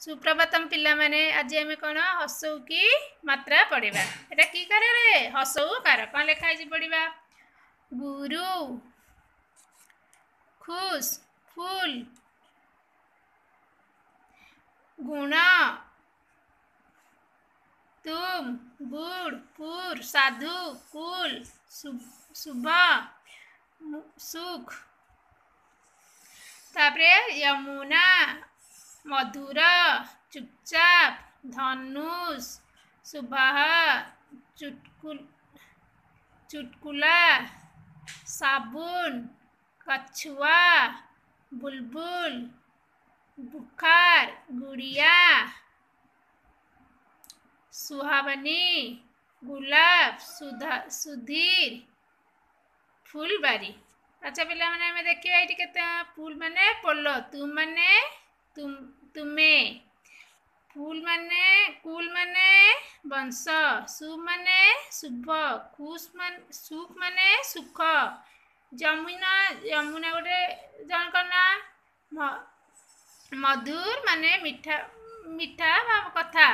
ସୁପ୍ରଭାତମ ପିଲାମାନେ, ଆଜି ଆମେ କ'ଣ ହସଉ କି ମାତ୍ରା ପଢ଼ିବା। ଏଟା କି କାରରେ? ହସଉ କାର। କ'ଣ ଲେଖା ହେଇଛି ପଢ଼ିବା। ଗୁରୁ, ଖୁସ୍, ଫୁଲ, ଗୁଣ, ତୁମ, ଗୁଡ଼, ପୁର, ସାଧୁ, କୁଲ, ଶୁଭ, ସୁଖ। ତାପରେ ୟମୁନା, ମଧୁର, ଚୁପଚାପ, ଧନୁଷ, ସୁବାହ, ଚୁଟକୁଲା, ସାବୁନ, କଛୁଆ, ବୁଲବୁଲ, ବୁଖାର, ଗୁଡ଼ିଆ, ସୁହାବନୀ, ଗୁଲାବ, ସୁଧା, ସୁଧୀର, ଫୁଲବାରୀ। ଆଚ୍ଛା ପିଲାମାନେ, ଆମେ ଦେଖିବା ଏଇଠି କେତେ। ଫୁଲ ମାନେ ପୋଲ, ତୁ ମାନେ ତୁମେ, ଫୁଲ ମାନେ କୁଲ ମାନେ ବଂଶ, ସୁ ମାନେ ଶୁଭ, ଖୁସ ମାନେ ସୁଖ ମାନେ ସୁଖ। ଯମୁନା, ଯମୁନା ଗୋଟେ ଜଣଙ୍କ ନାଁ। ମଧୁର ମାନେ ମିଠା, ମିଠା କଥା।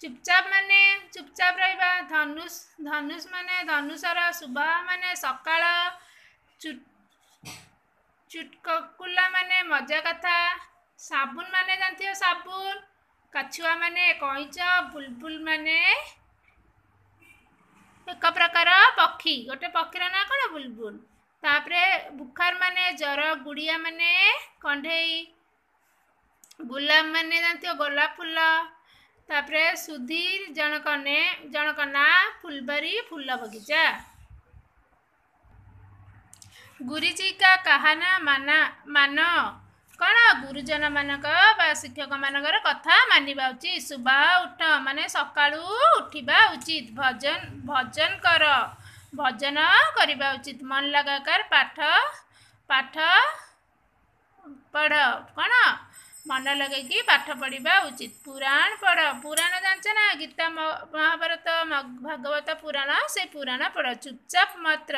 ଚୁପଚାପ ମାନେ ଚୁପଚାପ ରହିବା। ଧନୁଷ, ଧନୁଷ ମାନେ ଧନୁଷର। ଶୁଭ ମାନେ ସକାଳ। ଚୁଟକୁଲା ମାନେ ମଜା କଥା। ସାବୁନ ମାନେ ଜାଣିଥିବ ସାବୁନ। କାଛୁଆ ମାନେ କଇଁଚ। ବୁଲବୁଲ ମାନେ ଏକ ପ୍ରକାର ପକ୍ଷୀ, ଗୋଟେ ପକ୍ଷୀର ନାଁ କ'ଣ? ବୁଲବୁଲ। ତାପରେ ବୁଖାର ମାନେ ଜର। ଗୁଡ଼ିଆ ମାନେ କଣ୍ଢେଇ। ଗୋଲାପ ମାନେ ଜାଣିଥିବ ଗୋଲାପ ଫୁଲ। ତାପରେ ସୁଧୀର ଜଣକ ନେ ଜଣକ ନାଁ। ଫୁଲବାରୀ ଫୁଲ ବଗିଚା। ଗୁରୁଜୀ କା କାହାନା ମାନା ମାନ। କ'ଣ? ଗୁରୁଜନମାନଙ୍କ ବା ଶିକ୍ଷକମାନଙ୍କର କଥା ମାନିବା ଉଚିତ। ସୁବାହ ଉଠ ମାନେ ସକାଳୁ ଉଠିବା ଉଚିତ। ଭଜନ, ଭଜନ କର, ଭଜନ କରିବା ଉଚିତ। ମନ ଲଗାକର ପାଠ, ପାଠ ପଢ଼। କ'ଣ? ମନ ଲଗେଇକି ପାଠ ପଢ଼ିବା ଉଚିତ। ପୁରାଣ ପଢ଼। ପୁରାଣ ଜାଣିଛ ନା? ଗୀତା, ମହାଭାରତ, ଭାଗବତ ପୁରାଣ, ସେ ପୁରାଣ ପଢ଼। ଚୁପଚାପ ମାତ୍ର,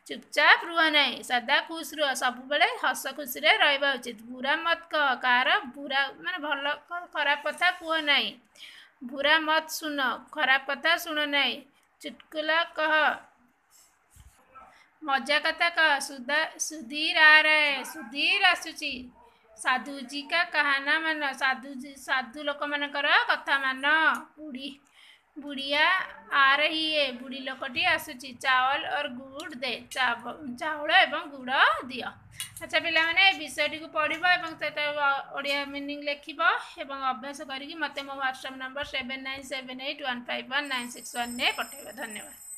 ଚୁପଚାପ ରୁହ ନାହିଁ, ସଦା ଖୁସ ରୁହ, ସବୁବେଳେ ହସ ଖୁସିରେ ରହିବା ଉଚିତ। ବୁରା ମତ କହ, କାହାର ବୁରା ମାନେ ଭଲ ଖରାପ କଥା କୁହ ନାହିଁ। ବୁରା ମତ ଶୁଣ, ଖରାପ କଥା ଶୁଣ ନାହିଁ। ଚୁଟକୁଲା କହ, ମଜା କଥା କହ। ସୁଧା ସୁଧୀର ଆ ରହା, ସୁଧୀର ଆସୁଛି। ସାଧୁଜୀ କା କାହାନା ମାନ, ସାଧୁ ସାଧୁ ଲୋକମାନଙ୍କର କଥା ମାନ। ବୁଢ଼ୀ ବୁଢ଼ିଆ ଆ ରହି ହେ, ବୁଢ଼ୀ ଲୋକଟି ଆସୁଛି। ଚାଉଳ ଅର୍ ଗୁଡ଼ ଦେ, ଚାଉଳ ଏବଂ ଗୁଡ଼ ଦିଅ। ଆଚ୍ଛା ପିଲାମାନେ, ଏ ବିଷୟଟିକୁ ପଢ଼ିବ ଏବଂ ସେଟା ଓଡ଼ିଆ ମିନିଂ ଲେଖିବ ଏବଂ ଅଭ୍ୟାସ କରିକି ମୋତେ ମୋ ହ୍ୱାଟ୍ସଆପ୍ ନମ୍ବର 7978151961ରେ ପଠାଇବ। ଧନ୍ୟବାଦ।